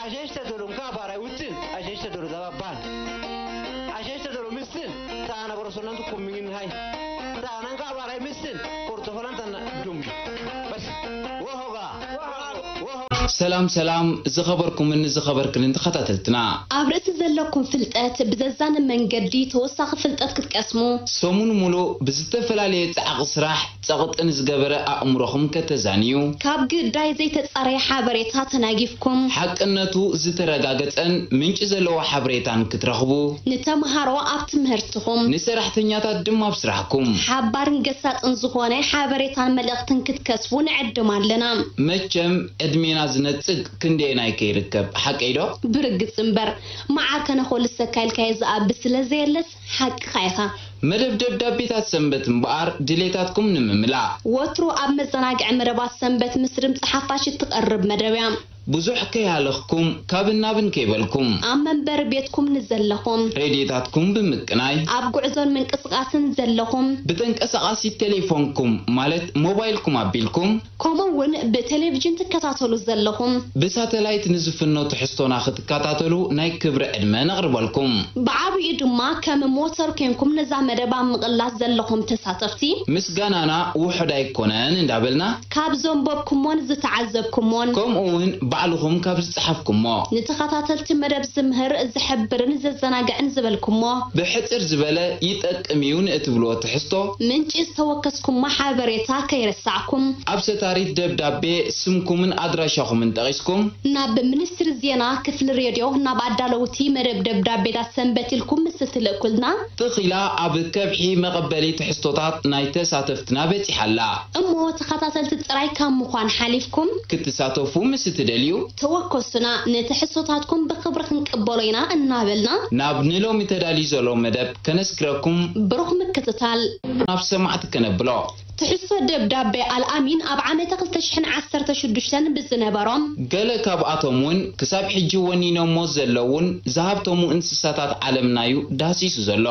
ኣሸሽ ተደሎ እንካ ባራይ ውትን ኣሸሽ ተደሎ ዛባ ባን ኣሸሽ ተደሎ ምስን ታና በረሶናን ትኩም ሚን ሃይ ታና እንካ ባራይ ምስን ኮርቶፈላን ታና ዱም በስ ወሆጋ ወሆ ሰላም ሰላም ዝኸበርኩምን ዝኸበርክንን ተኸታተልትና። ኣብ ርእሲ ዘለኩም ፍልጠት ብዘዛነ መንገዲ ተወሳኺ ፍልጠት ክትቀስሙ። ሰሙን ሙሉእ ብዝተፈላለየ ጻዕቒ ስራሕ ጸቕጢ ንዝገበረ ኣእምሮኹም ከተዛንዩ። ካብ ግዳይ ዘይተጻረየ ሓበሬታ ተናጊፍኩም። ሓቅነቱ ዝተረጋገጸን ምንጪ ዘለዎ ሓበሬታን ክትረኽቡ። ንተምሃሮ ኣብ ትምህርትኹም። ንሰራሕተኛታት ድማ ኣብ ስራሕኩም። ሓባርን ገሳጥን ዝኾነ ሓበሬታን መልእኽትን ክትከስቡ ንዕድም ኣለና። መቸም ዕድሜና ዝነጽግ ክንደየናይ ከይርከብ ሓቀይ ዶ? ብርግጽ እምበር መዓር ከነኾልሰካ ኢልካዮ ዝኣቢ ስለ ዘየለስ ሓቅኻ ኢኻ። መደብ ደብዳቤታት ሰንበት እምበኣር ድሌታትኩም ንምምላእ። ወትሩ ኣብ መዘናግዒ መደባት ሰንበት ምስ ድምጺ ሓፋሽ እትቐርብ መደብ እያ። ብዙሕ ከይሃለኽኩም ካብን ናብን ከይበልኩም። ኣብ መንበሪ ቤትኩም ንዘለኹም። ሬድዮታትኩም ብምቅናይ። ኣብ ጉዕዞን ምንቅስቓስን ዘለኹም። ብተንቀሳቓሲት ቴሌፎንኩም ማለት ሞባይልኩም ኣቢልኩም። ከምኡ እውን ብቴሌቪዥን ትከታተሉ ዘለኹም። ብሳተላይት ንዝፍኖ ትሕዝቶና ክትከታተሉ ናይ ክብሪ ዕድመ ነቕርበልኩም። ብዓብይኡ ድማ ከም ሞተር ኮንኩም ነዛ መደብ ኣብ ምቕላስ ዘለኹም ተሳተፍቲ። ምስጋናና ውሑድ ኣይኮነን እንዳበልና። ካብ ዘንበብኩሞን ዝተዓዘብኩሞን። ከምኡ እውን ባዕልኹም ካብ ዝጸሓፍኩሞ። ንተኸታተልቲ መደብ ዝምህር፣ ዝሕብርን ዘዘናግዕን ዝበልኩሞ። ብሕጽር ዝበለ ይጠቅም እዩ ንእትብልዎ ትሕዝቶ። ምንጪ ዝተወከስኩሞ ሓበሬታ ከይረሳዕኩም። ኣብ ሰታሪት ደብዳቤ ስምኩምን ኣድራሻኹምን ጠቒስኩም። ናብ ሚኒስትሪ ዜና ክፍሊ ሬድዮ ናብ ኣዳለውቲ መደብ ደብዳቤታት ሰንበት ኢልኩም ምስ እትልእኩልና። ትኺላ ኣብ ከብሒ መቐበሊ ትሕዝቶታት ናይ ተሳተፍትና በጺሓ ኣላ። እሞ ተኸታተልቲ ጥራይ ካብ ምዃን ሓሊፍኩም። ክትሳተፉ ምስ እትደልዩ። ተወከሱና፣ ንትሕዝቶታትኩም ብኽብሪ ክንቅበሎ ኢና እናበልና። ናብ ንሎሚ ተዳልዩ ዘሎ መደብ ከነስግረኩም። ብሩኽ ምክትታል። ናብ ሰማዕቲ ከነብሎ። ትሕዝቶ ደብዳቤ ኣልኣሚን ኣብ ዓመተ ክልተ ሽሕን ዓሰርተ ሽዱሽተን ብዝነበሮም። ገለ ካብኣቶም እውን ክሳብ ሕጂ ወኒኖሞ ዘለዉን ዝሃብተሙ እንስሳታት ዓለምና እዩ ዳህሲሱ ዘሎ።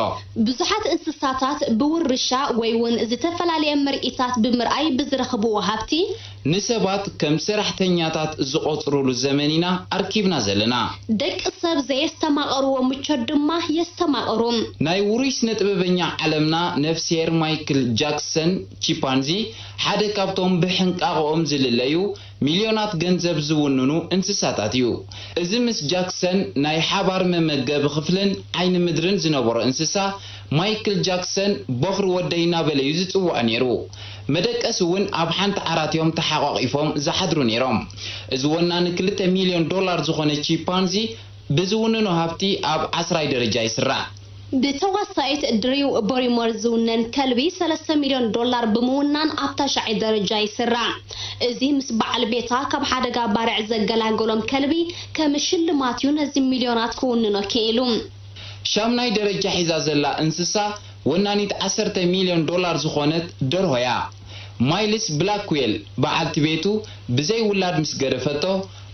ብዙሓት እንስሳታት ብውርሻ ወይ እውን ዝተፈላለየ ምርኢታት ብምርኣይ ብዝረኽብዎ ሃብቲ። ንሰባት ከም ሰራሕተኛታት ዝቖጽሩሉ ዘመን ኢና ኣርኪብና ዘለና። ደቂ ሰብ ዘየስተማቐርዎ ምቾት ድማ የስተማቐሩ። ናይ ውሩይ ስነ-ጥበበኛ ዓለምና ነፍስሄር ማይክል ጃክሰን ቺምፓንዚ ሓደ ካብቶም ብሕንቃቐኦም ዝልለዩ ሚልዮናት ገንዘብ ዝውንኑ እንስሳታት እዩ። እዚ ምስ ጃክሰን ናይ ሓባር መመገቢ ክፍልን ዓይኒ ምድርን ዝነበሮ እንስሳ ማይክል ጃክሰን በኹሪ ወደይ እናበለ እዩ ዝጽውዖ ነይሩ። መደቀሲ እውን ኣብ ሓንቲ ዓራት እዮም ተሓቋቒፎም ዝሓድሩ ነይሮም። እዚ ወናኒ ክልተ ሚልዮን ዶላር ዝኾነ ቺምፓንዚ ብዝውንኖ ሃብቲ ኣብ ዓስራይ ደረጃ ይስራዕ። ብተዋሳኢት ድሪው ቦሪሞር ዝውነን ከልቢ ሰለስተ ሚልዮን ዶላር ብምውናን ኣብ ታሽዓይ ደረጃ ይስራዕ። እዚ ምስ በዓል ቤታ ካብ ሓደጋ ባርዕ ዘገላገሎም ከልቢ ከም ሽልማት እዩ ነዚ ሚልዮናት ክውንኖ ክኢሉ። ሻምናይ ደረጃ ሒዛ ዘላ እንስሳ ወናኒት ዓሰርተ ሚልዮን ዶላር ዝኾነት ደርሆ እያ። ማይልስ ብላክዌል በዓልቲ ቤቱ ብዘይ ውላድ ምስ ገደፈቶ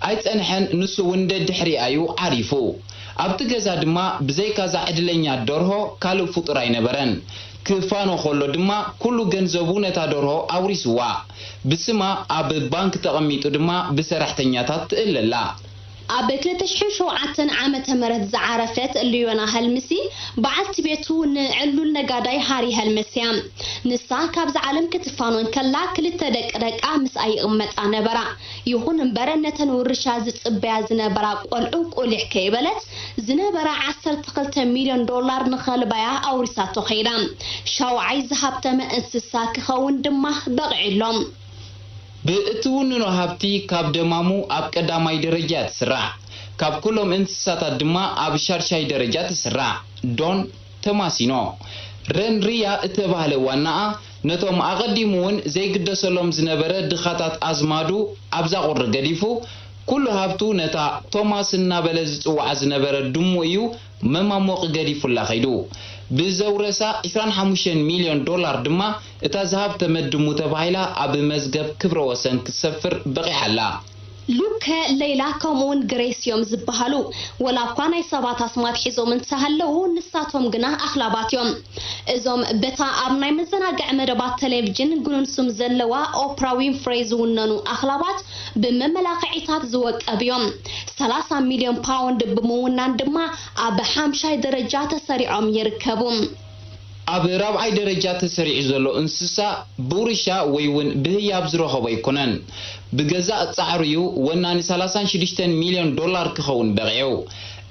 ኣይጸንሐን፣ ንሱ እውን ደድሕሪኣ እዩ ዓሪፉ። ኣብቲ ገዛ ድማ ብዘይካዛ ዕድለኛ ደርሆ ካልእ ፍጡር ኣይነበረን። ክፋኖ ከሎ ድማ ኩሉ ገንዘቡ ነታ ደርሆ ኣውሪስዋ። ብስማ ኣብ ባንክ ተቐሚጡ ድማ ብሰራሕተኛታት ትእለ ኣላ። ኣብ ክልተ ሽሕን ሸውዓተን ዓመተ ምህረት ዝዓረፈት ሊዮና ሀልምሲ በዓልቲ ቤቱ ንዕሉል ነጋዳይ ሃሪ ሀልመስ እያ። ንሳ ካብዛ ዓለም ክትፋኖ እንከላ ክልተ ደቂ ደቃ ምስኣ ይቕመጣ ነበራ። ይኹን እምበር ነተን ውርሻ ዝጽበያ ዝነበራ ቆልዑ ቁሊሕ ከይበለት ዝነበራ ዓሰርተ ክልተ ሚልዮን ዶላር ንኸልባያ ኣውሪሳቶ ከይዳ። ሻውዓይ ዝሃብተመ እንስሳ ክኸውን ድማ በቒዑ ኣሎ። ብእትውንኖ ሃብቲ ካብ ደማሙ ኣብ ቀዳማይ ደረጃ እያ ትስራዕ። ካብ ኩሎም እንስሳታት ድማ ኣብ ሻድሻይ ደረጃ ትስራዕ። ዶን ተማሲኖ። ረን ሪያ እተባህለ ዋናኣ ነቶም ኣቐዲሙ እውን ዘይግደሰሎም ዝነበረ ድኻታት ኣዝማዱ ኣብዛ ቁሪ ገዲፉ ኩሉ ሃብቱ ነታ ቶማስ እናበለ ዝጽውዓ ዝነበረ ድሙ እዩ መማሞቒ ገዲፉላ ከይዱ። ብዘውረሳ ዕስራን ሓሙሽተን ሚልዮን ዶላር ድማ እታ ዝሃብተመት ድሙ ተባሂላ ኣብ መዝገብ ክብረ ወሰን ክትሰፍር በቒዓ ኣላ። ሉከ፣ ሌላ ከምኡውን ግሬስ እዮም ዝበሃሉ። ወላ እኳ ናይ ሰባት ኣስማት ሒዞም እንተሃለዉ፣ ንሳቶም ግና ኣኽላባት እዮም። እዞም በታ ኣብ ናይ መዘናግዒ መደባት ቴሌቪዥን ግኑን ስም ዘለዋ ኦፕራ ዊንፍሬይ ዝውነኑ ኣኽላባት ብመመላኽዒታት ዝወቀብ እዮም። ሰላሳ ሚልዮን ፓውንድ ብምውናን ድማ ኣብ ሓምሻይ ደረጃ ተሰሪዖም ይርከቡ። ኣብ ራብዓይ ደረጃ ተሰሪዑ ዘሎ እንስሳ ብውርሻ ወይ እውን ብህያብ ዝረኸቦ ኣይኮነን። ብገዛእ ጻዕሩ እዩ ወናኒ ሰላሳን ሽዱሽተን ሚልዮን ዶላር ክኸውን በቒዑ።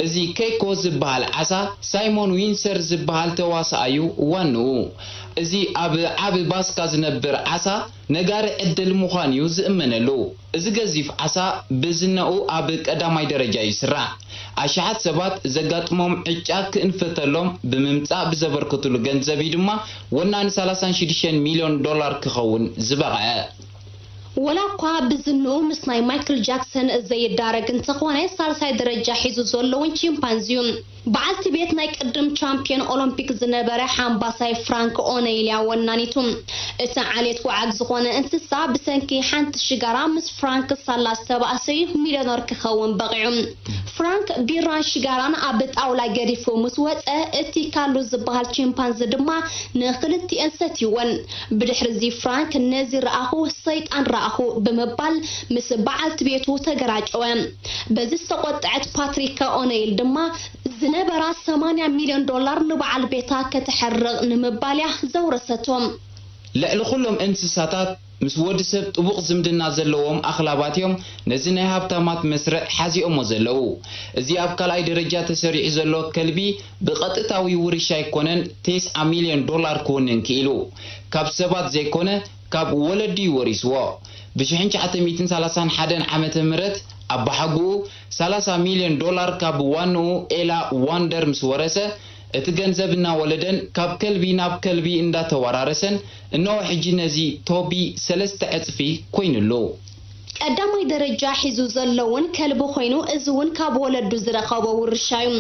እዚ ኬኮ ዝበሃል ዓሳ ሳይሞን ዊንሰር ዝበሃል ተዋሳኣዩ ዋንኡ። እዚ ኣብ ዓቢ ባስካ ዝነብር ዓሳ ነጋሪ ዕድል ምዃን እዩ ዝእመነሉ። እዚ ገዚፍ ዓሳ ብዝነኡ ኣብ ቀዳማይ ደረጃ እዩ ዝስራዕ። ኣሽሓት ሰባት ዘጋጥሞም ዕጫ ክእንፍተሎም ብምምጻእ ብዘበርከትሉ ገንዘብ እዩ ድማ ወናኒ ሰላሳን ሽዱሽተን ሚልዮን ዶላር ክኸውን ዝበቕዐ። ወላ እኳ ብዝንኡ ምስ ናይ ማይክል ጃክሰን ዘይዳረግ እንተኾነ፣ ሳልሳይ ደረጃ ሒዙ ዘሎ እውን ቺምፓንዚ እዩ። በዓልቲ ቤት ናይ ቅድም ቻምፒዮን ኦሎምፒክ ዝነበረ ሓምባሳይ ፍራንክ ኦነይል እያ ወናኒቱ። እቲ ዓሌት ወዓግ ዝኾነ እንስሳ ብሰንኪ ሓንቲ ሽጋራ ምስ ፍራንክ ሳላ ዝተባእሰ እዩ ሚልዮነር ክኸውን በቒዑ። ፍራንክ ቢራን ሽጋራን ኣብ ጣውላ ገዲፉ ምስ ወጸ፣ እቲ ካሉ ዝበሃል ቺምፓንዚ ድማ ንኽልቲኤን ሰትይወን። ብድሕሪ እዚ ፍራንክ ነዚ ረኣኹ ሰይጣን ረኣኹ ብምባል ምስ በዓልቲ ቤቱ ተገራጨወ። በዚ ዝተቖጥዐት ፓትሪካ ኦነይል ድማ ዝነበራ ሰማንያ ሚልዮን ዶላር ንበዓል ቤታ ከተሕርቕ ንምባል እያ ዘውረሰቶ። ልዕሊ ኩሎም እንስሳታት ምስ ወዲ ሰብ ጥቡቕ ዝምድና ዘለዎም ኣኽላባት እዮም ነዚ ናይ ሃብታማት መስርዕ ሓዚኦሞ ዘለዉ። እዚ ኣብ ካልኣይ ደረጃ ተሰሪዑ ዘሎ ከልቢ ብቐጥታዊ ውርሻ ኣይኮነን ተስዓ ሚልዮን ዶላር ክውንን ክኢሉ። ካብ ሰባት ዘይኮነ ካብ ወለዱ እዩ ወሪስዎ። ብ ሽሕን ትሽዓተ ሚእትን ሰላሳን ሓደን ዓመተ ምህረት ኣባሓጉኡ ሰላሳ ሚልዮን ዶላር ካብ ዋንኡ ኤላ ዋንደር ምስ ወረሰ፣ እቲ ገንዘብ እናወለደን ካብ ከልቢ ናብ ከልቢ እንዳተወራረሰን እነሆ ሕጂ ነዚ ቶቢ ሰለስተ ዕጽፊ ኮይኑሉ። ቀዳማይ ደረጃ ሒዙ ዘሎ እውን ከልቢ ኮይኑ፣ እዚ እውን ካብ ወለዱ ዝረኸቦ ውርሻ እዩ።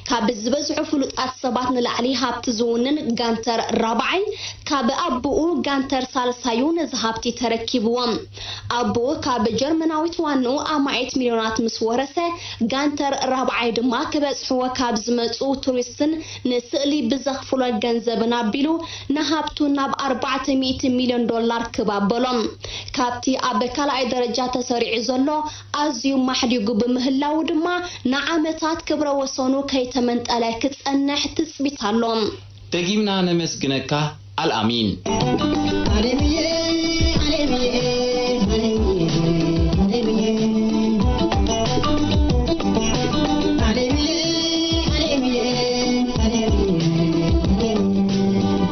ካብ ዝበዝሑ ፍሉጣት ሰባት ንላዕሊ ሃብቲ ዝውንን ጋንተር ራብዓይ ካብ ኣቦኡ ጋንተር ሳልሳዩ ነዚ ሃብቲ ተረኪብዎ። ኣቦኡ ካብ ጀርመናዊት ዋንኡ ኣማኢት ሚልዮናት ምስ ወረሰ፣ ጋንተር ራብዓይ ድማ ክበጽሕዎ ካብ ዝመጹ ቱሪስትን ንስእሊ ብዘኽፍሎ ገንዘብን ኣቢሉ ንሃብቱ ናብ ኣርባዕተ ሚእቲ ሚልዮን ዶላር ክብ ኣበሎ። ካብቲ ኣብ ካልኣይ ደረጃ ተሰሪዑ ዘሎ ኣዝዩ ማሕዲጉ ብምህላዉ ድማ ንዓመታት ክብረ ወሰኑ ከይተመንጠለ ክጸንሕ ትጽቢት ኣሎ። ደጊምና ነመስግነካ ኣልኣሚን።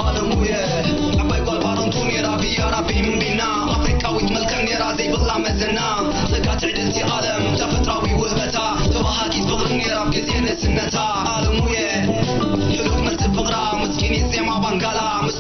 ዓለሙየ ዓባይ ጓል ባሮንቱ ነራ ብያ ራቢ ምንቢና ኣፍሪቃዊት መልክዕ ነራ ዘይብላ መዘና ጸጋ ትዕድልቲ ዓለም ተፈጥራዊ ውህበታ ተባሃጊት ፍቕሪ ነራ ኣብ ግዜ ንእስነታ ዓለሙየ ሕሉፍ መልቲ ፍቕራ ምስኪኒት ዜማ ባንጋላ ምስ